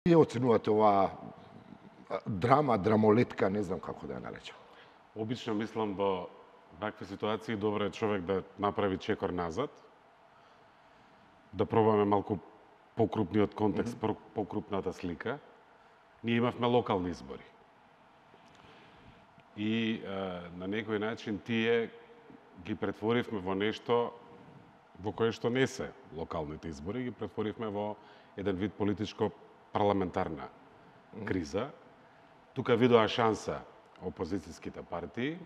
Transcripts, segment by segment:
Вие оценувате оваа драма, драмолетка, не знам како да ја наречам? Обично мислам во вакви ситуации добро е човек да направи чекор назад, да пробаме малку покрупниот контекст, покрупната слика. Ние имавме локални избори. И на некој начин тие ги претворивме во нешто во кое што не се локалните избори, ги претворивме во еден вид политичко-парламентарна криза. Тука видоа шанса опозицијските партии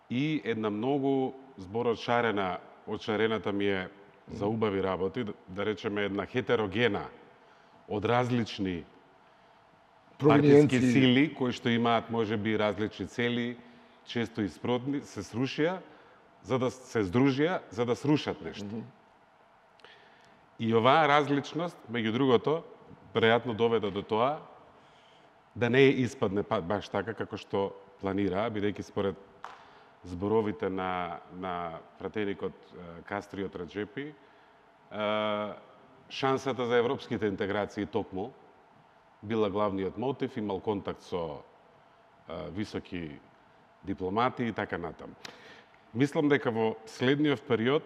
и една многу зборот шарена, од шарената ми е за убави работи, да речеме една хетерогена од различни партиски сили кои што имаат можеби различни цели, често и спротни, се срушија, за да се здружија, за да срушат нешто. И оваа различност, меѓу другото, веројатно доведе до тоа да не испадне баш така како што планираа, бидејќи според зборовите на пратеникот Кастриот Раџепи, шансата за европските интеграции токму била главниот мотив, имал контакт со високи дипломати и така натаму. Мислам дека во следниот период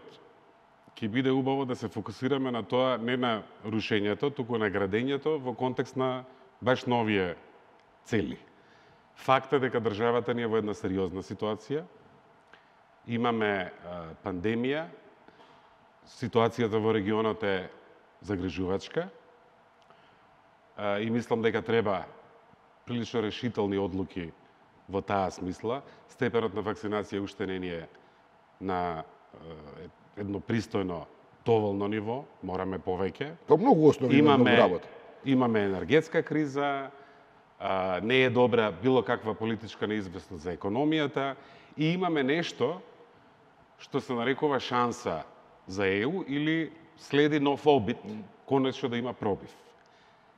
ќе биде убаво да се фокусираме на тоа, не на рушењето, туку на градењето во контекст на баш новие цели. Факт е дека државата ни е во една сериозна ситуација. Имаме пандемија, ситуацијата во регионот е загрижувачка и мислам дека треба прилично решителни одлуки во таа смисла. Степенот на вакцинација уште не ни е на едно пристојно доволно ниво, мораме повеќе. Тоа многу основи на многу работа. Имаме енергетска криза, не е добра било каква политичка неизвестност за економијата и имаме нешто што се нарекува шанса за ЕУ или следи нов обид, конечно да има пробив.